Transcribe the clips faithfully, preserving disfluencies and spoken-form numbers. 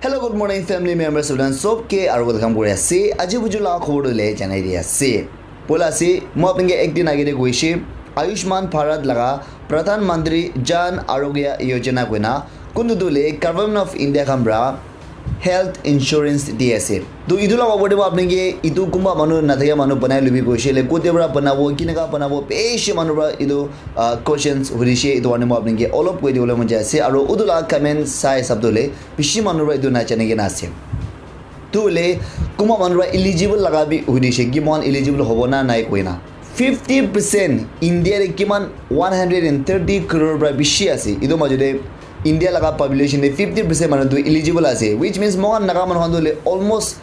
Hello, good morning, family members, students, sob ke aru welcome kuri ase. Aji buju laga khobor tu le janai di ase. Poila ase, moi apni ke ek din age de koise, Ayushman Bharat laga Pradhan Mantri Jan Arogya Yojana koina, kuntu tu le Government of India khan pra health insurance di ase. To itu laga opor te moi apni ke itu kunba manu na thakia manu banai lubi koise le, kote pra banabo, kineka banabo, bishi manu pra itu, ah, questions hurishe, itu karne moi apni ke olop koi dibole mon jai ase. Aru utu laga comment sai hisab to le bishi manu pra itu na jane kena ase. Tu le kunba manu pra eligible laga bi hurishe ki mohan eligible hobo na nai koina. Fifty percent India te kiman one hundred and thirty crore pra bishi ase. Itu majo te India laga population te fifty percent manu tu eligible ase, which means mohan Naga manu khan tu le almost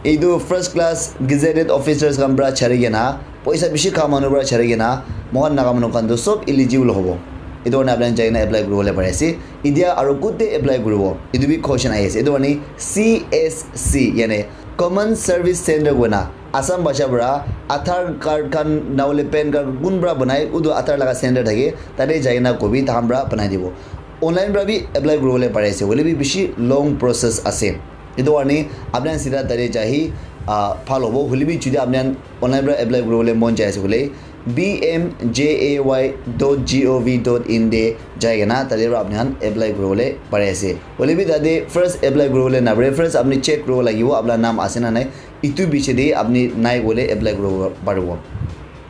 etu first class gazetted officers khan pra chari kena, poisa bishi kha manu pra chari kena, mohan Naga manu khan tu sob eligible hobo. Etu karne apni khan jai kena apply kuribole pari ase. India aru kote apply kuribo? Etu bi question ahi ase. Etu karne C S C, yani Common Service Center koina Assam bhasha pra Aadhaar card khan nahole PAN card kun pra banai, utu Aadhaar laga center thake, tate jai kena kobi, tahan pra banai dibo. Online pra bi apply kuribole pari ase, hoile bi bishi long process ase. Etu karne apni khan sida tate jahi, ah, bhal hobo. Hoile bi jodi apni khan online pra apply kuribole mon jai ase koile, B M J A Y dot G O V dot in te jai kena tate pra apni khan apply kuribole pari ase. Hoile bi tate first apply kuribole na pare, first apni check kuribo lagibo apna naam ase na nai. Itu biche de apni nai koile apply kuribo paribo.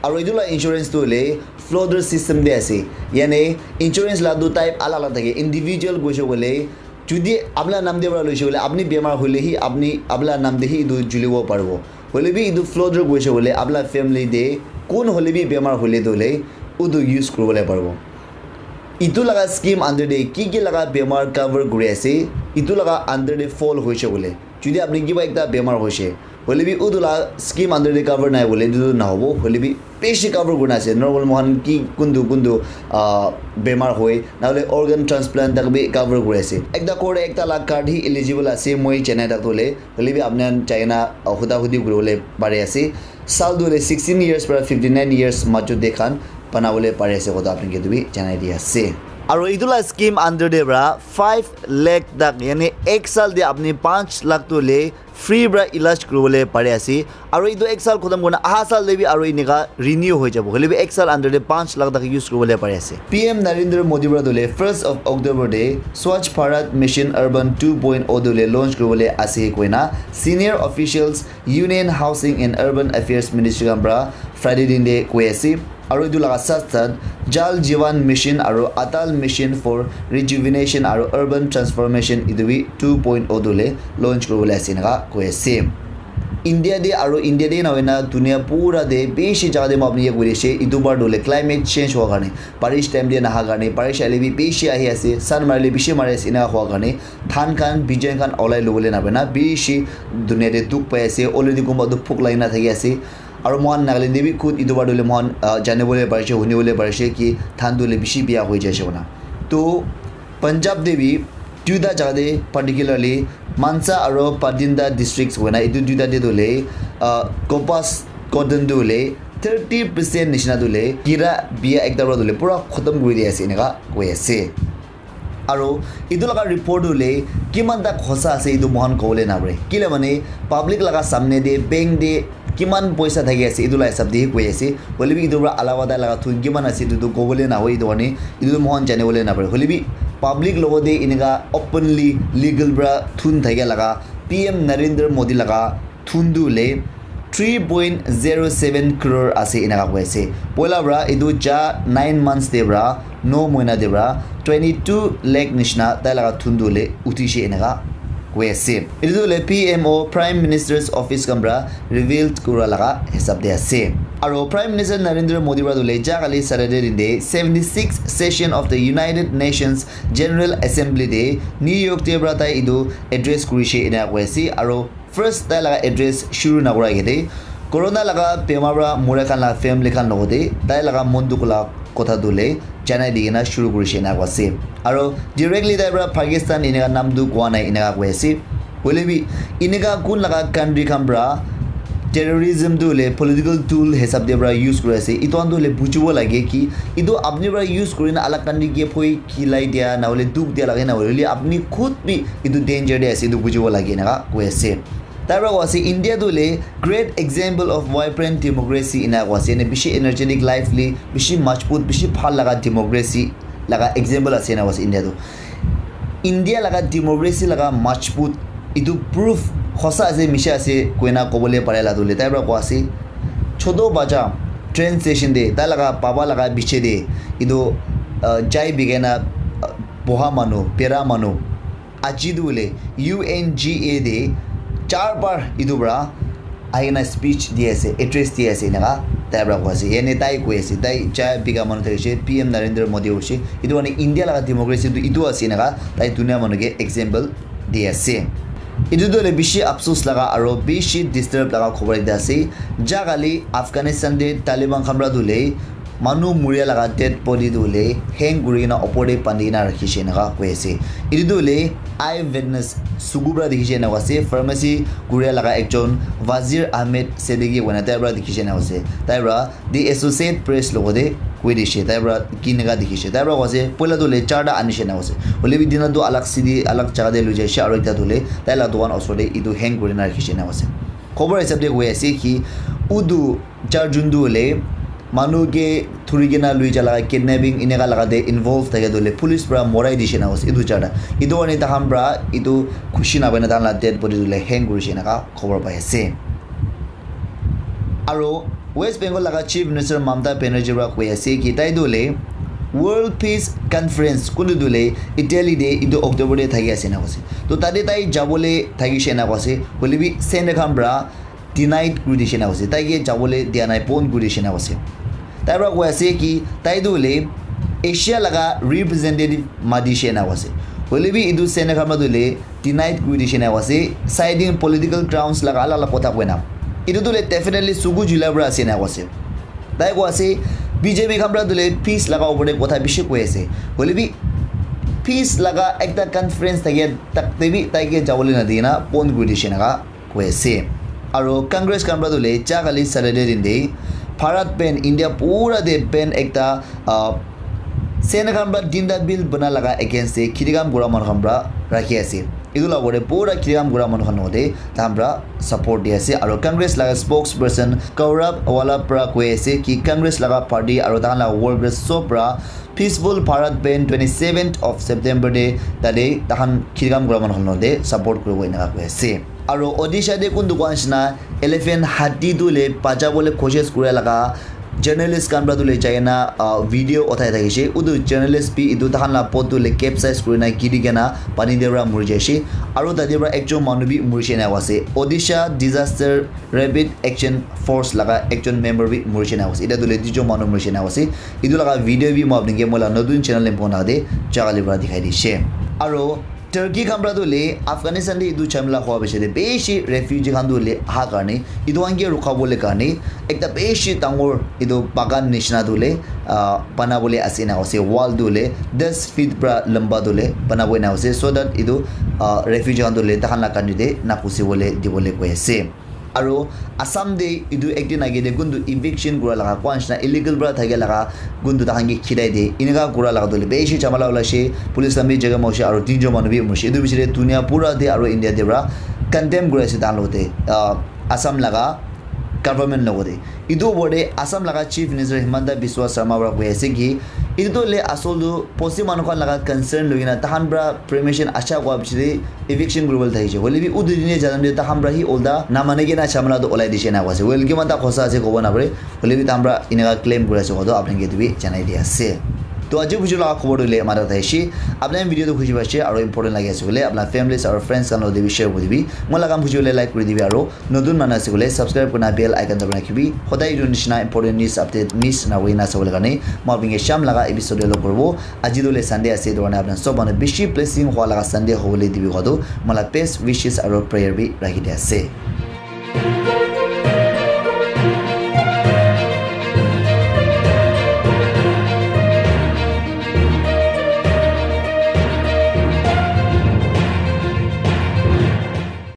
Aru itu la insurance tu hoile floater system de ase. Yani insurance la du type alag alag thake. Individual koise koile, jodi apna naam de para loise koile, apni bemar hoile hi apni, apna naam de hi itu julibo paribo. Hoile bi itu floater koise koile, apna family de kun hoile bi bemar hoile tu hoile, utu use kuribole paribo. Itu laga scheme under de ki ki laga bemar cover kuri ase, itu laga under de fall hoise koile, jodi apni kiba ekta bemar hoise, hoile bi utu la scheme under de cover nai hoile, etu tu nahobo, hoile bi bishi cover kurina ase. Normal mohan ki kuntu kuntu, ah, bemar hoi, nahole organ transplant tak bi cover kuri ase. Ekta core ekta la card hi eligible ase, moi janai tak tu hoile, hoile bi apni khan jai kena, ah, huda hudi kuribole pari ase. Sal tu hoile sixteen years para fifty nine years majot de khan banabole pari ase, kotha apni ke tu bi janai di ase. Aru etu la scheme under de para five lakh tak, yani ek sal de apni panch lakh tu le free para ilaj kuribole pari ase. Aru etu ek sal khotom kurna aha sal de bi aru enika renew hoi jabo. Hoile bi ek sal under de panch lakh tak use kuribole pari ase. P M Narendra Modi para tu le first of October de Swachh Bharat Mission Urban two point oh tu le launch kuribole ase koina senior officials Union Housing and Urban Affairs Ministry khan para Friday din de koi ase. Aru etu laga sat sat Jal Jeevan Mission aru Atal Mission for Rejuvenation aru Urban Transformation etu bi two point oh tu le launch kuribole ase enika koi ase. India de aru India de na hoina dunia pura de bishi jaga de moi apni ke koi ase, etu bar tu le climate change hua karne, barish time de naha karne, barish ahile bi bishi ahi ase, sun marile bishi mari ase, enika hua karne dhan khan bijan khan olai lobole na pare na bishi dunia de dukh pai ase. Already kunba tu bhuk lagi na thaki ase. Aru mohan Nagaland de bi khud etu bar tu le mohan, ah, janibole parise, hunibole parise ki dhan tu le bishi biya hoi jaise koina. To Punjab de bi duita jaga de, particularly Mansa aru Bathinda districts koina etu duita de tu le, ah, kapas cotton tu le thirty percent nishina tu le kira biya ekta para tu le pura khotom kuri di ase enika koi ase. Aru etu laga report tu le kiman tak hosa ase etu mohan kobole na pare. Kile mane public laga samne de bank de kiman poisa thaki ase etu la hisab de hi koi ase. Hoile bi etu para alawa tai laga thun kiman ase etu tu kobole na hoi, etu karne etu tu mohan janibole na pare. Hoile bi public logot de enika openly legal para thun thakia laga P M Narendra Modi laga thun tu le three point zero seven crore ase enika koi ase. Poila para etu ja nine months de para no moina de para twenty two lakh nishina tai laga thun tu le uthi she enika koi ase. Etu tu le P M O, Prime Minister's Office khan para revealed kura laga hisab de ase. Aru Prime Minister Narendra Modi para tu le ja kali Saturday din de seventy six session of the United Nations General Assembly de New York de para tai etu address kuri she enika koi ase. Aru first tai laga address shuru na kura age de corona laga bemar para mura khan laga family khan logot de tai laga mon dukh la kotha tu le janai di kena shuru kuri she enika koi ase. Aru directly tai para Pakistan enika naam tu koa nai enika koi ase. Hoile bi enika kun laga country khan para terrorism tu hoile political tool hisab te para use kuri ase. Etu khan tu hoile bujibo lage ki etu apni para use kuri na alag country ke phoi khilai dia na hoile dukh dia lage na hoile apni khud bi etu danger te ase, etu bujibo lage eneka koi ase. Tai para koi ase India tu hoile great example of vibrant democracy ena koi ase, ene bishi energetic, lively, bishi majbut, bishi bhal laga democracy laga example ase ena koi ase India tu. India laga democracy laga majbut etu proof hosa ase misha ase koina kobole pare la dole tai para koi ase. Choto bacha train station te tai laga baba laga piche te etu uh, chai bikai na uh, boha manu, bera manu aji tu hoile U N G A te char bar etu para ahi kena speech di ase, address di ase eneka tai para koi ase. Yane tai koi ase, tai chai bika manu thakishe, P M Narendra Modi hoishe. Etu karne India laga democracy tu etu ase eneka tai dunia manu ke example di ase. Etu tu hoile bishi afsus laga aro bishi disturb laga khobor ekta ase. Ja kali Afghanistan te Taliban khan para tu hoile manu muria laga dead body tu hoile hang kuri kena opor te bandi kena rakhi she eneka koi ase. Etu tu hoile eye witness suku para dikhi she eneka ase. Pharmacy kuria laga ekjon Wazir Ahmed Sedeki koina tai para dikhi she eneka ase. Tai para the Associate Press logo te koi dishe. Tai para kineka dikhi she. Tai para koi ase poila tu hoile charta ani she eneka ase. Hoile bi dina tu alag city, alag jaga te loi jai she aro ekta tu hoile tai la dukan osor te etu hang kuri kena rakhi she eneka ase. Khobor hisab te koi ase ki utu charjun tu hoile manu ke thuri kena lui ja laga kidnapping eneka laga te involve thake tu hoile police para morai dishe eneka ase etu charta. Etu karne tai khan para etu khushi napai na tai khan la dead body tu hoile hang kuri she eneka khobor pai ase. Aro West Bengal laga Chief Minister Mamata Banerjee para koi ase ki tai tu hoile World Peace Conference kuntu tu hoile Italy te etu October te thaki ase eneka ase. To tate tai jabole thakishe eneka ase. Hoile bi Senate khan para denied kuri dishe eneka ase. Tai ke jabole dia nai, bon kuri dishe eneka ase. Tai para koi ase ki tai tu hoile Asia laga representative mati she eneka ase. Hoile bi etu Senate khan para tu hoile denied kuri dishe eneka ase, citing political grounds laga alag alag kotha koina. Etu tu hoile definitely suku jula para ase eneka ase. Tai koi ase B J P khan para tu hoile peace laga opor te kotha bishi koi ase. Hoile bi peace laga ekta conference thake tak te bi tai ke jabole na di kena bon kuri dishe eneka koi ase. Aro Congress khan para tu hoile ja kali Saturday din te Bharat ban, India pura te ban ekta uh, Senate khan para tinta bill bana laga against te khiti kam kura manu khan para rakhi ase. Etu la opor te pura khiti kam kura manu khan logote tai khan para support di ase. Aro Congress laga spokesperson Gaurav Wallabh para koi ase ki Congress laga party aro tai khan laga workers sob para peaceful Bharat ban twenty seventh of September te tate tai khan khiti kam kura manu khan logote support kuribo eneka koi ase. Aro Odisha te kun dukan nishina elephant hati tu le bacha bole koshish kura laga journalist khan para tu le jai kena uh, video uthai thakishe. Utu journalist bi etu tai khan la boat tu le capsize kuri na giri kena pani te para muri jaishe. Aro tate para ekjon manu bi murishe eneka ase. Odisha Disaster Rapid Action Force laga ekjon member bi murishe eneka ase. Eta tu le duijon manu murishe eneka ase. Etu laga video bi moi apni ke moi la notun channel te pona de ja kali para dikhai dishe. Aro Turkey khan para tu hoile Afghanistan te etu jhamela hua piche te bishi refugee khan tu hoile aha karne etu khan ke rukha bole karne ekta bishi dangor etu bagan nishina tu hoile ah, bana bole ase na ase. Wall tu hoile das feet para lamba tu hoile bana bole na ase, so that etu ah, refugee khan tu hoile tai khan la country te na ghusi bole di bole koi ase. Aro Assam te etu ek din age te kuntu eviction kura laga kua nishina illegal para thakia laga kuntu tai khan ke khidai de eneka kura laga tu hoile bishi jhamela ulai she, police khan bi jaga ma hoishe aro tinjon manu bi murishe. Etu bishi te dunia pura te aro India te para condemn kuri ase tai khan logote ah, Assam laga government logote. Etu opor te Assam laga Chief Minister Himanta Biswa Sarma para koi ase ki etu tu hoile asol tu bosti manu khan laga concern loi kena tai khan para permission acha kua piche te eviction kuribole thakishe. Hoile bi utu dine janam de tai khan para hi ulta namani kena jhamela tu ulai dishe eneka ase. Well, kiman ta khosa ase kobo napare. Hoile bi tai khan para eneka claim kuri ase kowa tu apni ke etu bi janai di ase. To aji buju laga khobor tu hoile amara thakishe. Apni khan video tu khushi paishe aro important lagi ase koile apna families aro friends khan logote bi share kuri dibi. Moi laga kam khushi hoile like kuri dibi aro notun manu ase koile subscribe kurina bell icon dabai na rakhibi. Hodai etu nishina important news update miss na hoina sabole karne moi apni ke sham laga episode te log koribo. Aji tu hoile Sunday ase, etu karne apni khan sob manu bishi blessing hua laga Sunday hobole dibi kowa tu moi la best wishes aro prayer bi rakhi di ase.